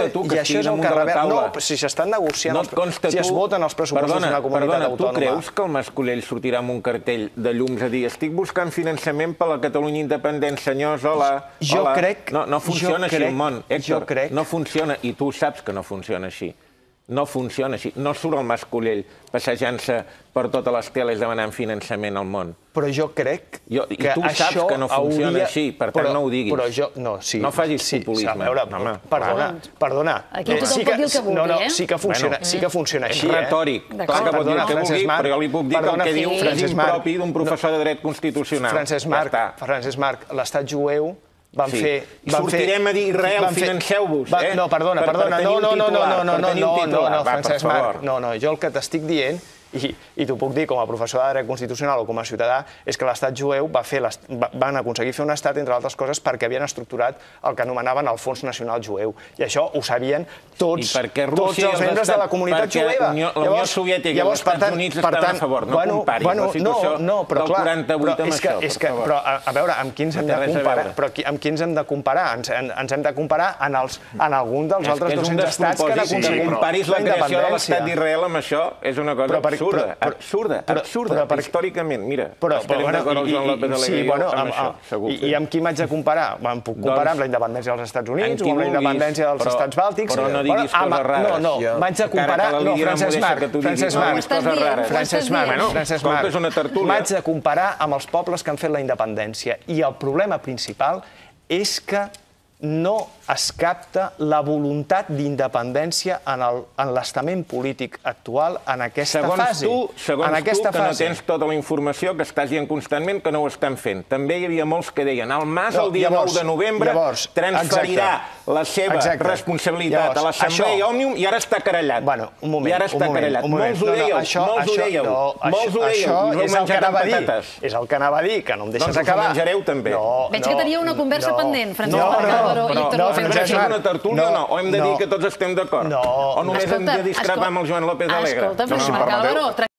I això és el que revela... No, si s'estan negociant... Si es voten els pressupostos d'una comunitat autònoma... Tu creus que el Mas-Colell sortirà amb un cartell de llums a dir estic buscant finançament per la Catalunya independent, senyors, hola, hola... No funciona així el món, Héctor, no funciona, i tu saps que no funciona així. No funciona així. No surt el Mas-Colell passejant-se per totes les teles demanant finançament al món. Però jo crec que això I tu saps que no funciona així, per tant no ho diguis. Però jo... No facis populisme. Perdona. Aquí tothom pot dir el que vulgui, eh? Sí que funciona així, És retòric. Clar que pot dir el que vulgui, però jo li puc dir que el que diu és impropi d'un professor de dret constitucional. Francesc Marc, l'estat jueu van fer... Sortirem a dir Israel, financeu-vos, eh? No, perdona, no, Francesc Marc. No, jo el que t'estic dient, i t'ho puc dir com a professor de dret constitucional o com a ciutadà, és que l'estat jueu van aconseguir fer un estat, entre altres coses, perquè havien estructurat el que anomenaven el Fons Nacional Jueu. I això ho sabien tots els membres de la comunitat jueva. La Unió Soviètica i els Estats Units estaven a favor. No comparis la situació del 48 amb això, per favor. Però, a veure, amb qui ens hem de comparar? Però amb qui ens hem de comparar? Ens hem de comparar en algun dels altres 200 estats que han aconseguit la independència. Que comparis la creació de l'estat d'Israel amb això és una cosa absurda, històricament. Mira, estarem d'acord amb Joan López Alegre amb això, segur. I amb qui m'haig de comparar? Em puc comparar amb la independència dels Estats Units o amb la independència dels Estats Bàltics? Però no diguis coses rares. No, m'haig de comparar... No, Francesc Marc, m'haig de comparar amb els pobles que han fet la independència. I el problema principal és que no es capta la voluntat d'independència en l'estament polític actual en aquesta fase. Segons tu, que no tens tota la informació, que estàs dient constantment que no ho estan fent. També hi havia molts que deien el Mas el dia 9 de novembre transferirà la seva responsabilitat a l'Assemblea Òmnium i ara està querellat. Un moment. Molts ho dèieu. Això és el que anava a dir. És el que anava a dir, que no em deixes acabar. Doncs ho menjareu també. Veig que tenia una conversa pendent, Francesc Marc Álvaro i Héctor López. És una tertúlia o no? O hem de dir que tots estem d'acord? O només hem de discrepar amb el Joan López Alegre? Escolta, Francesc Marc Álvaro...